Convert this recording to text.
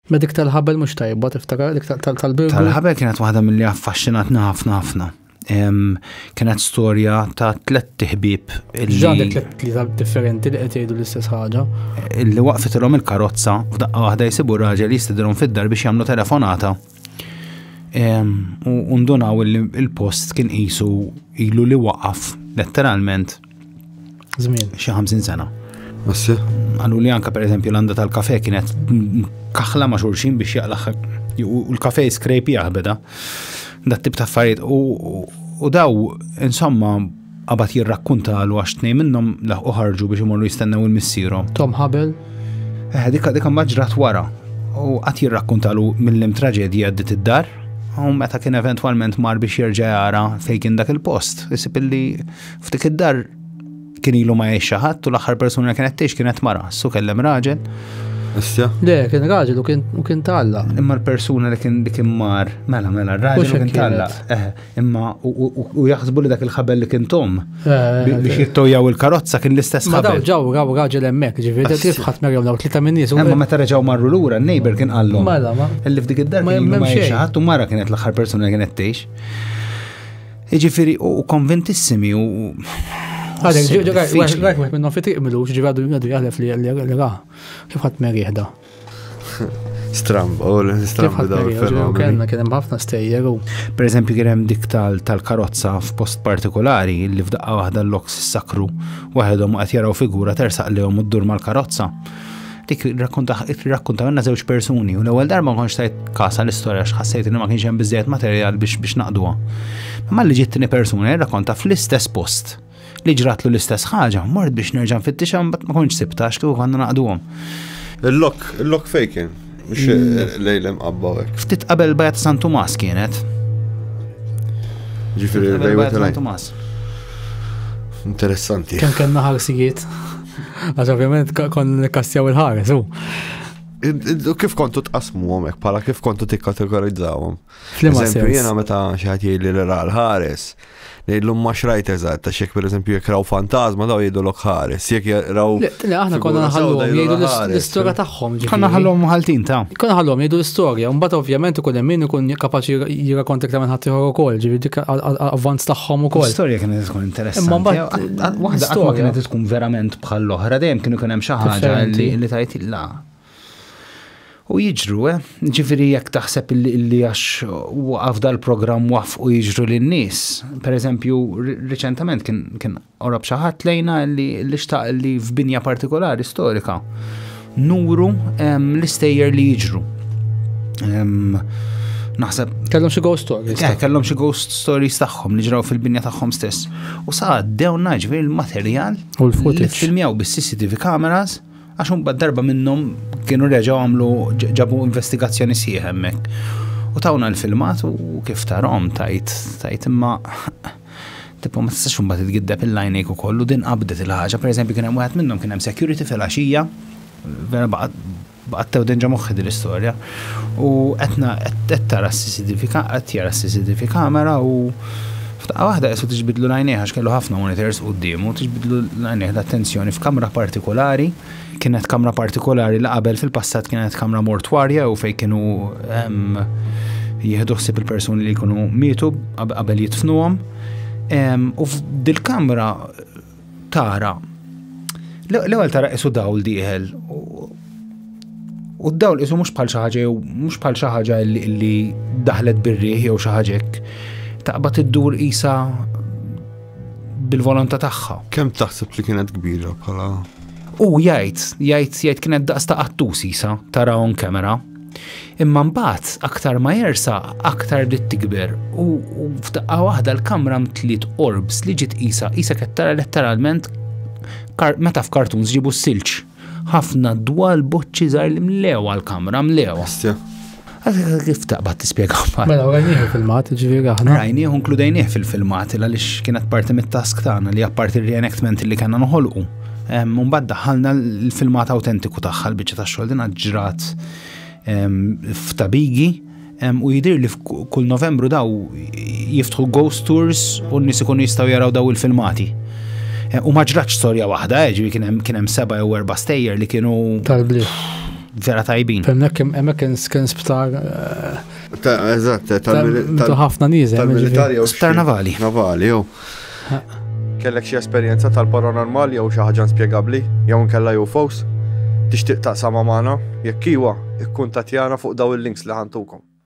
Ma dik tal-ħabel mhux tajba, tiftakar dik tal-birgu. Tal-ħabel kienet waħda mill-li affaxxinatna ħafna ħafna. Kienet storja ta' tlett ħbieb. Ġan tlett tlieta differenti li qed jgħidu l-istess ħaġa. Illi waqfitilhom il-karozza f'daqqa waħda jsibu raġel jistidilhom fid-dar biex jagħmlu telefonata. U ndunaw li il-post kien qisu ilu li waqaf letteralment Żmien. Xi 50 sena. Assi. Għallu li anka per eżempju l-għanda tal-kafe kienet kaħla ma' xulxin biex jaqlaħ u l-kafe skrejpi jaħbeda. Dat tip ta' affarijiet u daw insomma qabad jirrakkuntalu għax tnej minnhom laħqu ħarġu biex imorru jistennew il-missierhom. Tom Hubble. Eh, dikka dikka ma ġrat wara. U qatt jirrakkuntalu mill-lim traġedja għaddit id-dar. U meta kien eventwalment mar biex jerġa' jara fejn kien dak il-post, isib illi F'dik id-dar kien ilu ma jgħix xi ħadd u l-aħħar persuna li kienet tgħix kienet mara, su kellem raġel. Issa? Le, kien raġel u kien u kien talla. Imma l-persuna li kien li kien mar, mela mela, r-raġel u kien talla. Eh, imma u jaħsbu li dak il-ħabel li kien tom eh, biex jittojjaw il-karozza kien l-istess ħabel. Ma ġew raw raġel hemmhekk, ġifieri kif ħadd merjew daw tlieta minn nies. Imma meta reġgħu marru lura, n-neighbor kien qallhom. Mela, ma. Illi f'dik id-dar kien ma jgħix ħadd u mara kienet l-aħħar persuna li kienet tgħix. Jiġifieri u konvintissimi u. Għadek, rajt wieħed minnhom fi triq milux, ġifieri għadu għadu jaħlef li ra. Kif ħadd merieħda. Stramb, u l-stramb daw il-fenomeni. Kenna kien hemm ħafna stejjer u. Per eżempju kien hemm dik tal-karozza f'post partikolari li f'daqqa waħda l-loks sakru waħedhom qed jaraw figura tersaq lehom u ddur mal-karozza. Dik irrakkuntaw żewġ persuni u l-ewwel darba ma kontx tajt kasa l-istorja x'ħassejt li ma kienx hemm biżejjed materjal biex biex naqduha. Imma li ġiet tieni persuna jirrakkonta fl-istess post li ġratlu l-istess ħaġa, mort biex nerġa' nfittixha mbagħad ma kontx sibta għax kieku konna naqduhom. Il-lok, il-lok fejn kien? Mhux mm. lejl imqabba hekk. Ftit qabel bajat San Tumas kienet. Ġifieri lejl San Tumas. Interessanti. Kemm kellna ħarsijiet. Għax ovvjament kon nikkastjaw il-ħares, u. Kif kontu tqasmu għomek, pala kif kontu tikkategorizzawhom? F'liema Eżempju, sens? jiena meta xi ħadd jgħidli li ra l-ħares, ngħidlu ma xrajt eżatt, għax jekk pereżempju jekk raw fantasma daw jgħidulok ħares, jekk raw. Le, le, aħna konna figura nħalluhom sewda jgħidu jgħidulha ħares. l-istorja tagħhom. ġifieri. Konna ħallhom ħaltin ta' Konna ħallhom jgħidu l-istorja, u mbagħad ovvjament ikun hemm min ikun kapaċi jirrakkonta iktar minn ħadd ieħor ukoll, ġifieri dik avvanz tagħhom ukoll. L-istorja kienet tkun interessanti. Imma mbagħad Waħda qatt ma kienet tkun verament bħal l-oħra, dejjem kienu kien hemm xi ħaġa li tajt la. U jiġru, eh? Ġifieri jekk taħseb li għax waqaf dal-programm wafqu jiġru lin-nies. Per eżempju, riċentament kien qorob xi ħadd lejna li xtaq li f'binja partikolari storika nuru l-istejjer li jiġru. Naħseb. Kellhom xi ghost stories. Eh, kellhom xi ghost stories tagħhom li ġraw fil-binja tagħhom stess. U sa għaddewna ġifieri l-materjal u l-footage. Filmjaw bis-CCTV cameras għax imbagħad darba minnhom kienu reġgħu għamlu ġabu investigazzjoni sieħ hemmhekk. U tawna l-filmat u kif tarhom tajt tajt imma tipo ma tistax imbagħad titgiddeb il-lajnejk ukoll u din qabdet il-ħaġa. Pereżempju kien hemm wieħed minnhom kien hemm security fil-għaxija, vera baqgħet tewden ġo moħħi din l-istorja. U qed qed tara s-CCTV qed jara s-CCTV kamera u f'daqqa waħda qisu tiġbidlu l-għajnejh għax kellu ħafna monitors quddiemu, tiġbidlu l-għajnejh l-attenzjoni f'kamra partikolari. Kienet kamra partikolari li qabel fil-passat kienet kamra mortwarja u fejn kienu jieħdu ħsieb il-persuni li jkunu mietu qabel jidfnuhom. U f'dil-kamra tara l-ewwel tara qisu dawl dieħel u d-dawl qisu mhux bħal xi ħaġa jew mhux bħal xi ħaġa li daħlet bir-riħ jew xi ħaġa hekk. Taqbad iddur qisha bil-volontà tagħha. Kemm taħseb li kienet kbira bħala? U jgħid, jgħid, jgħid kienet daqs ta' qattus isa tara on camera. Imma mbagħad aktar ma jersa aktar bdiet tikber u f'daqqa waħda l-kamra mtliet orbs li ġiet qisha qisha qed tara letteralment meta f'kartuns ġibu s-silġ. Ħafna dwal boċċi żgħar li mlewha l-kamra, mlewha. Kif taqbad tispjega Mela, rajnieh il-filmat, ġifieri aħna. Rajnieh u nkludejnieh fil-filmat għaliex kienet parti mit-task tagħna li apparti il-reenactment li kellna noħolqu. Mbagħad daħħalna l-filmat autentiku tagħha l-biċċa tax-xogħol din ġrat f'Tabigi u jidir li kull Novembru daw jiftħu ghost tours u n-nies ikunu jistgħu jaraw daw il-filmati. U ma ġratx storja waħda, eh, ġifieri kien hemm seba' jew erba' stejjer li kienu tal-bliet. Vera tajbin. Hemmhekk hemmhekk kien sptar Eżatt, tal ħafna nies. Tal-militari jew Sptar navali. Navali, jew. Kellek xi esperjenza tal-paranormal jew xi ħaġa inspjegabbli jew inkella UFOs? Tixtieq taqsamha magħna? Jekk iwa, ikkuntattjana fuq daw il-links li ħa ntukom.